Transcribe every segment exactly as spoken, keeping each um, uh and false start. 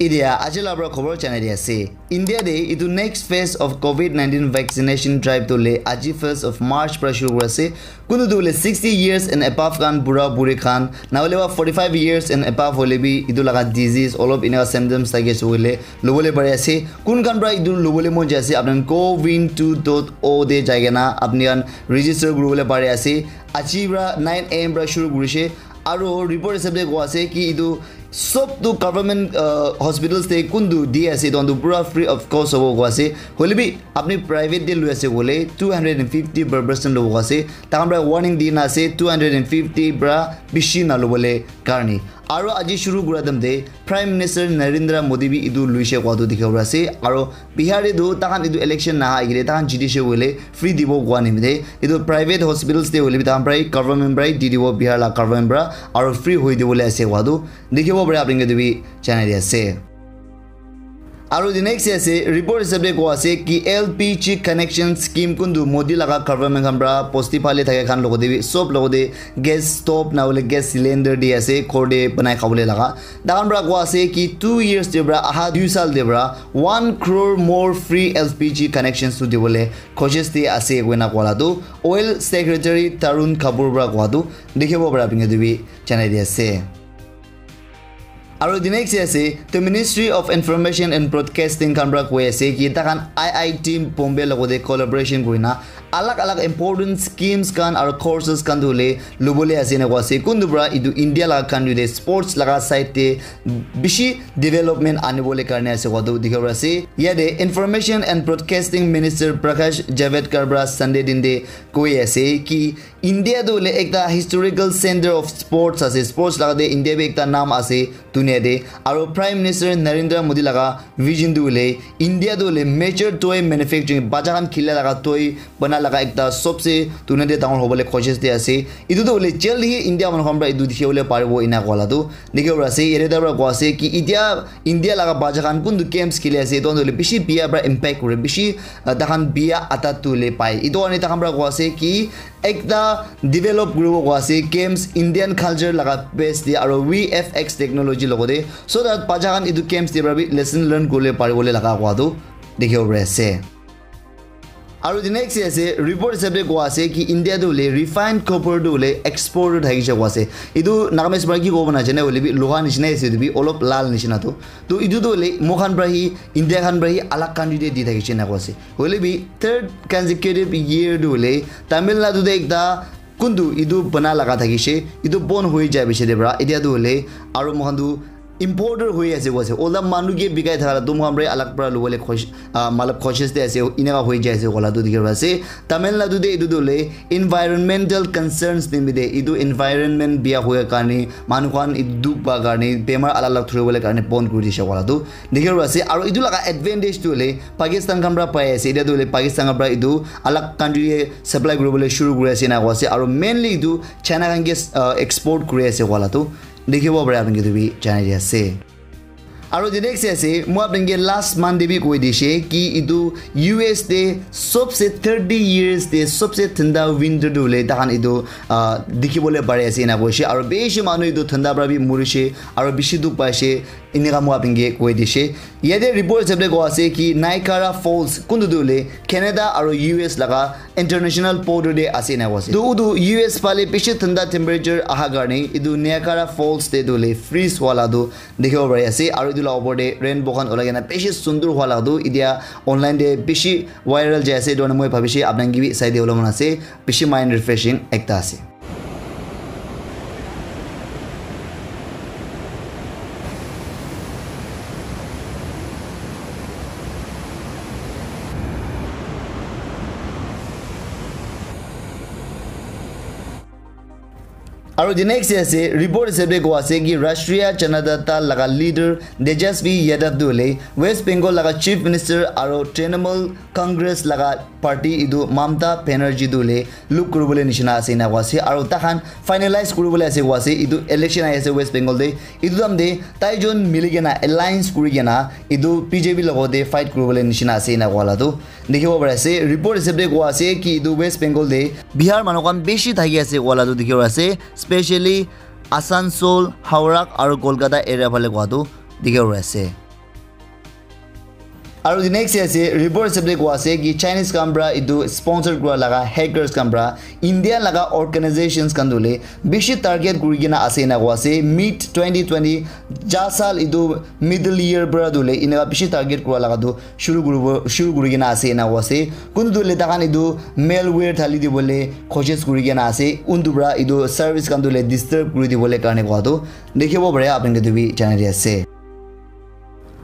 Idia aji la pra khobor janai di ase. India de itu next phase of covid nineteen vaccination drive tu le aji first of March pra shuru kuri ase. Kuntu tu le sixty years and above khan, bura buri khan, na hole ba forty-five years and above hole bi itu laga disease olop inaka symptoms thaki ase hoile lobole pari ase. Kun khan pra itu lobole mon jai ase, apni khan cowin two dot o de jai kena apni khan register kuribole pari ase. Aji pra nine a m pra shuru kurishe. Aro report hisab de koa ase ki itu sob tu government, uh, hospitals te kuntu di ase, itu tu pura free of cost hobo koa ase. Hoile bi apni private te lui ase koile two hundred and fifty per person lobo koa ase. Takhan pra warning di na ase, two hundred and fifty pra bishi na lobole karne. Aro aji shuru kura time te Prime Minister Narendra Modi bi itu luishe koa tu dikhibo pari ase. Aro Bihar te tu takhan itu election naha agile takhan jitishe koile free dibo koa nimite itu private hospitals te hoile bi takhan pra government pra di dibo, Bihar la government pra, aro free hoi dibole ase koa tu dikhibo pare. Apni khan ke tu bi janai di ase. Aro the next ase, report hisab de koa ase ki L P G connection scheme kuntu Modi laga government khan pra bosti phale thaka khan logote bi sob logote gas stove na hole gas cylinder di ase, ghor de banai khabole laga. Takhan pra koa ase ki two years de pra, aha dui sal de pra one crore more free L P G connections tu dibole koshish de ase koina koa la tu Oil Secretary Tarun Kapoor pra koa tu dikhibo pare, apni khan ke tu bi janai di ase. Aro the next ase, the Ministry of Information and Broadcasting khan pra koi ase ki takhan I I T Bombay logote collaboration kurina alag alag important schemes khan aro courses khan tu hole lobole ase ena koa ase. Kuntu pra itu India laga country te sports laga side te bishi development anibole karne ase koa tu dikhibo pari ase. Yate Information and Broadcasting Minister Prakash Javadekar pra Sunday din te koi ase ki India tu hole ekta historical center of sports ase. Sports laga te India bi ekta naam ase dunia te. Aro Prime Minister Narendra Modi laga vision tu hole India tu hole major toy manufacturing, bacha khan khila laga toy bana laga ekta sobse dunia te dangor hobole koshish de ase. Itu tu hole jaldi hi India manu khan pra itu dikhi bole paribo ena koa la tu dikhibo pari ase. Yate ta pra koa ase ki itia India laga bacha khan kuntu games khili ase, itu khan tu hole bishi biya pra impact kure, bishi, ah, takhan biya atat tu hole pai. Itu karne takhan pra koa ase ki ekta develop kuribo koa ase games Indian culture laga base de aro V F X technology logote, so that bacha khan itu games de pra bi lesson learn kuribole paribole laga koa tu dikhibo pari ase. Aro the next ase, report hisab de koa ase ki India tu hole refined copper tu hole export thakishe koa ase. Itu Nagamese pra ki kobo na jane hoile bi loha nishina ase, itu bi olop lal nishina tu. To itu tu hole moikhan pra hi, India khan pra hi alag country te di thakishe na koa ase. Hoile bi third consecutive year tu hole Tamil Nadu te ekta kuntu itu bana laga thakishe, itu bon hoi jai bishi de pra. Itia tu hole aro moikhan tu importer hoi ase koa ase. Ola manu ke bikai thaka la tu moikhan pra alag pra lobole koshish, ah, matlab koshish de ase, eneka hoi jai ase koa la tu dikhibo pari ase. Tamil Nadu te itu tu hole environmental concerns nimite, itu environment biya hoya karne, manu khan itu dukh pa karne, bemar alag alag thuribole karne bon kuri dishe koa la tu dikhibo pari ase. Aro itu laga advantage tu hole Pakistan khan pra pai ase. Itia tu hole Pakistan khan pra itu alag country te supply kuribole shuru kuri ase ena koa ase. Aro mainly itu China khan ke, uh, export kuri ase koa la tu dikhibo pare, apni khan ke tu bi janai di ase. Aro the next ase, moi apni khan ke last month te bi koi dishe ki itu U S te sobse thirty years te sobse thanda winter tu hole takhan itu, ah, dikhibole pari ase ena koishe. Aro bishi manu itu thanda pra bi murishe, aro bishi dukh paishe, eneka moi apni khan ke koi dishe. Yate report hisab de koa ase ki Niagara Falls kuntu tu hole Canada aro U S laga international border de ase ena koa ase. Tu utu U S phale bishi thanda temperature aha karne itu Niagara Falls te tu hole freeze hua la tu dikhibo pari ase, aro itu la opor te rainbow khan ulai kena bishi sundur hua la tu itia online te bishi viral jai ase. Itu karne moi bhabishe apni khan ke bi sai dibole mon ase, bishi mind refreshing ekta ase. Aro the next ase, report hisab de koa ase ki Rashtriya Janata Dal laga leader Tejasvi Yadav tu hole West Bengal laga Chief Minister aro Trinamool Congress laga party itu Mamata Banerjee tu hole look kuribole nishina ase ena koa ase. Aro takhan finalize kuribole ase koa ase, itu election ahi ase West Bengal te. Itu time te taijon mili kena alliance kuri kena itu B J P logote fight kuribole nishina ase ena koa la tu dikhibo pari ase. Report hisab de koa ase ki itu West Bengal te Bihar manu khan bishi thaki ase koa la tu dikhibo pari ase, specially Asansol, Howrah aro Kolkata area phale koa tu dikhibo pari ase. Aru the next ase, report hisab te koa ase ki Chinese khan pra etu sponsor kura laga hackers khan pra India laga organizations khan tu le bishi target kuri kena ase ena koa ase. Mid twenty twenty, ja sal etu middle year pra tu le ena bishi target kura laga tu shuru kuribo, shuru kuri kena ase ena koa ase. Kuntu tu le takan etu malware thali dibo le koshish kuri kena ase. Untu pra etu service khan tu le disturb kuri dibo le karne koa tu dikhibo pare, apni ke tu bi janai di ase.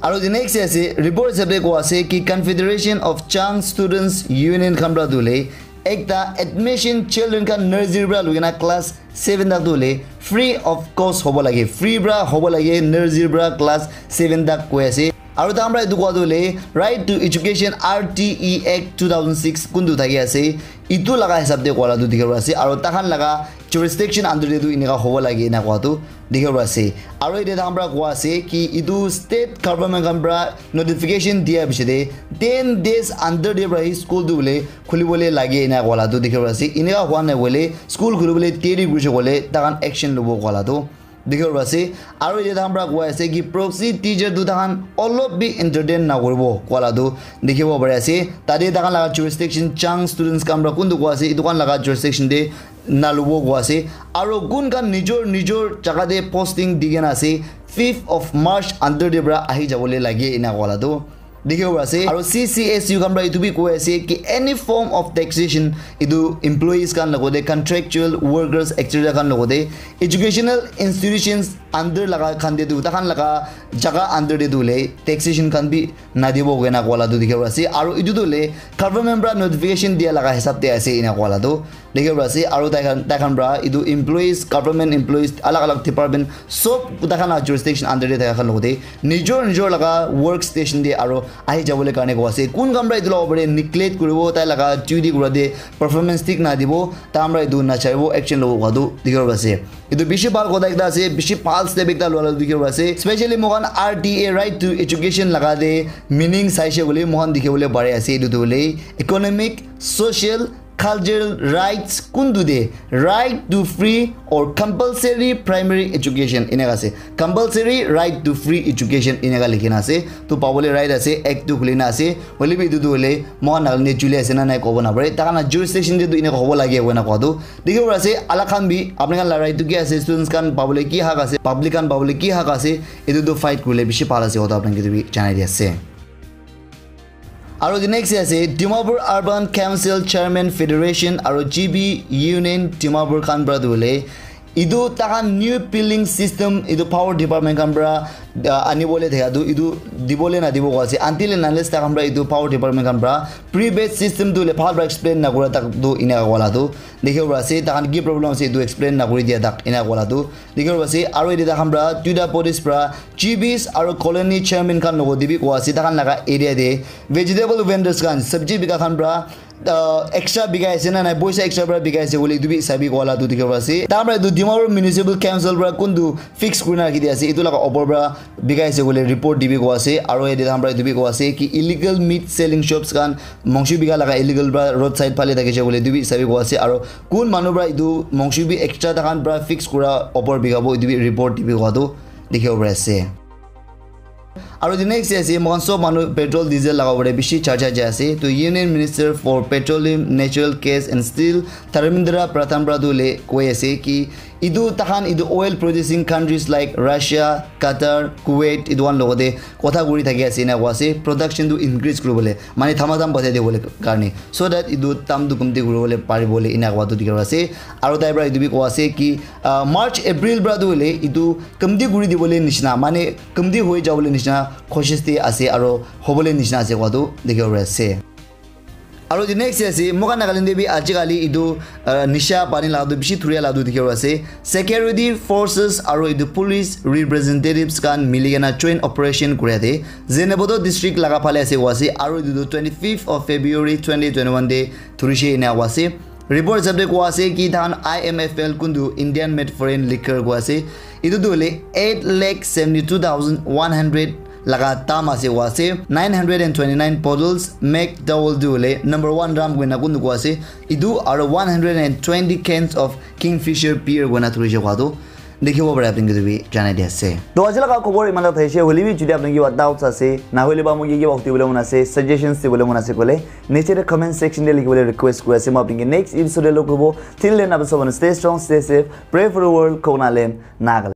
Aru the next ase, report hisab te koa ase ki Confederation of Chang Students Union khan pra tu le ekta admission children khan nursery pra lukina class seven tak tu le free of cost hobo lage, free pra hobo lage nursery pra class seven tak koi ase. Aru tahan pra etu koa tu le Right to Education R T E Act two thousand six kuntu thaki ase, etu laga hisab te koa la tu dikhibo ase. Aru tahan laga jurisdiction under te tu eneka hobo lage ena koa tu dikhibo ase. Aru ete tahan pra koa ase ki etu state government khan pra notification dia piche te ten days under te pra hi school tu le khulibo le lage ena koa la tu dikhibo ase. Eneka hua nai hoile school khulibo le deri kurise koile tahan action lobo koa la tu dikhibo ase. Aru ete tahan pra koa ase ki proxy teacher tu tahan olop bi entertain na kuribo koa la tu dikhibo pare ase. Tate tahan laga jurisdiction Chang students khan pra kuntu koa ase, etu khan laga jurisdiction te na lobo koa ase. Aru kun khan nijor nijor jaga te posting di kena ase, fifth of March under te pra ahi jabo le lage ena koa la tu dikhibo pare ase. Aru C C S U khan pra etu bi koi ase ki any form of taxation etu employees khan logote contractual workers et cetera khan logote educational institutions under laga khan te tu tahan laga jaga under te tu le taxation khan bi na dibo koina koa la tu dikhibo pare ase. Aru etu tu le government pra notification dia laga hisab te ase ena koa la tu dikhibo pare ase. Aru tai khan, tai khan pra etu employees, government employees, alag alag department sob tai khan la jurisdiction under te thaka khan logote nijor nijor laga work station te aru ahi jabo le karne koa ase. Kun khan pra etu la opor te neglect kuribo, tai laga duty kura te performance thik na dibo, tahan pra etu na chaibo, action lobo koa tu dikhibo pare ase. Etu bishi bhal kotha ekta ase, bishi bhal step ekta lua la dikhibo pare ase. Specially moikhan R T A, Right to Education laga te meaning saishe koile moikhan dikhibo le pare ase, etu tu hoile economic, social, cultural rights kuntu te right to free or compulsory primary education eneka ase. Compulsory right to free education eneka likhi na ase. To pabo le right ase, act tu khuli na ase. Hoile bi etu tu hoile moikhan Nagaland te chuli ase na nai kobo na pare. Tahan la jurisdiction te tu eneka hobo lage koina koa tu dikhibo pare ase. Alag khan bi apni khan la right tu ki ase, students khan pabo le ki hak ase, public khan pabo le ki hak ase, etu tu fight kurile bishi bhal ase koa tu apni khan ke tu bi janai di ase. Aru the next ase, Dimapur Urban Council Chairman Federation aru G B Union Dimapur khan pra tu hoile etu tahan new billing system etu power department khan pra, ah, anibole thaka tu etu dibole na dibo koa ase. Until and unless tahan pra etu power department khan pra prepaid system tu le bhal pra explain na kura tak tu eneka koa la tu dikhibo pare ase. Tahan ki problem ase etu explain na kuri dia tak eneka koa la tu dikhibo pare ase. Aru ete tahan pra duita bodies pra G Bs aru colony chairman khan logote bi koa ase, tahan laga area te vegetable vendors khan, sabji bika khan pra, ah, extra bikai ase na nai, poisa extra pra bikai ase koile etu bi sabi koa la tu dikhibo pare ase. Tahan pra etu Dimapur Municipal Council pra kuntu fix kurina rakhi di ase, etu laga opor pra bikai ase koile report dibi koa ase. Aru ete tahan pra etu bi koa ase ki illegal meat selling shops khan mangso bika laga illegal pra roadside phale thakishe koile etu bi sabi koa ase. Aru kun manu pra etu mangso bi extra tahan pra fix kura opor bikabo etu bi report dibi koa tu dikhibo pare ase. Aru the next ase, moikhan sob manu petrol diesel laga opor te bishi charcha jai ase. To Union Minister for Petroleum, Natural Gas and Steel, Dharmendra Pradhan pra tu le koi ase ki etu tahan etu oil producing countries like Russia, Qatar, Kuwait etu khan logote kotha kuri thaki ase ena koa ase, production tu increase kuribole, mane thama dam bajai dibole karne, so that etu dam tu kumti kuribole paribole ena koa tu dikhibo pare ase. Aru tai pra etu bi koa ase ki, ah, March, April pra tu hoile etu kumti kuri dibole nishina, mane kumti hoi jabole nishina koshish te ase aru hobole nishina ase koa tu dikhibo pare ase. Aru the next ase, moikhan Nagaland te bi ajikali etu, ah, nisha pani la tu bishi thuria la tu dikhibo pare ase. Security forces aru etu police representatives khan mili kena joint operation kuria te Zunheboto district laga phale ase koa ase. Aru etu tu twenty fifth of February twenty twenty one te thurishe ena koa ase. Report hisab te koa ase ki tahan I M F L kuntu Indian made foreign liquor koa ase. Etu tu hoile eight lakh seventy two thousand one hundred laga dam ase koa ase. Nine hundred and twenty nine bottles McDowell tu hoile number one rum koina kuntu koa ase. Etu aru one hundred and twenty cans of Kingfisher beer koina thurishe koa tu Dikhibo pare apni ke bi janai di ase. To aji laga khobor iman ta thaise, hoile bi jodi apni kiba doubts ase, na hoile ba moi kiba hudi bole mon ase, suggestions dibole mon ase koile, niche te comment section te likhi bole request kuri ase. Moi apni ke next episode te log koribo. Till then, apni sob stay strong, stay safe, pray for the world, Khoknalem, Nagaland.